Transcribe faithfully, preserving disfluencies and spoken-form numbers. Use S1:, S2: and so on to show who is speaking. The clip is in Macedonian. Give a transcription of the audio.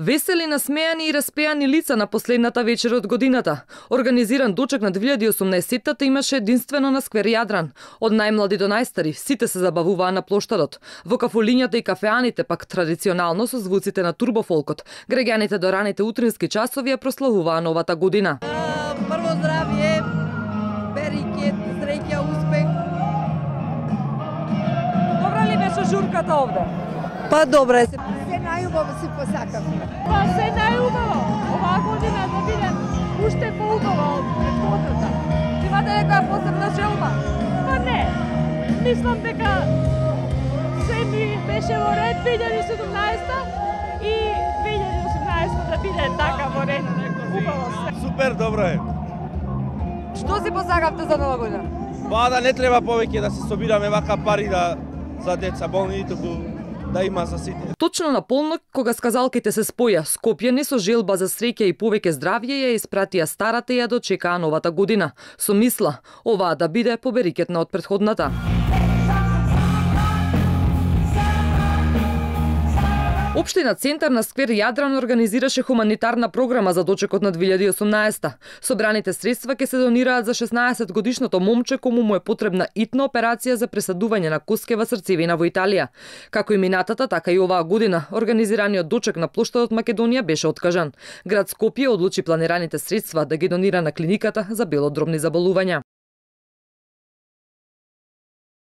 S1: Весели, насмеани и распеани лица на последната вечер од годината. Организиран дочек на две илјади и осумнаесеттата имаше единствено на сквер Јадран. Од најмлади до најстари, сите се забавуваа на плоштадот. Во кафулињата и кафеаните пак традиционално со звуците на турбофолкот. Граѓаните до раните утрински часови ја прославуваа новата година.
S2: Прво здравје, берикет, среќа, успех.
S1: Добра ли беше журката овде?
S2: Па добре се. Се најубаво си посакавме.
S3: Па се најубаво. Оваа година да биде уште поубава од претходната.
S1: Имате некоја посебна желба?
S3: Па не. Мислам дека се ми беше во ред две илјади и седумнаесетта и две илјади и осумнаесетта да биде така во ред. Убаво се.
S4: Супер, добро е.
S1: Што си посакавте за нова година?
S4: Па да не треба повеќе да се собираме вака пари да за деца болни, туку да има за сите.
S1: Точно на полнок, кога сказалките се споја, Скопјани со желба за среќа и повеќе здравје ја испратија старата и ја дочекаа новата година. Со мисла, оваа да биде поберикетна од претходната. Општина Центар на сквер Јадран организираше хуманитарна програма за дочекот на две илјади и осумнаесетта. Собраните средства ќе се донираат за шеснаесет годишното момче кому му е потребна итна операција за пресадување на коскева срцевина во Италија. Како и минатата, така и оваа година, организираниот дочек на плоштадот Македонија беше откажан. Град Скопје одлучи планираните средства да ги донира на клиниката за белодробни заболувања.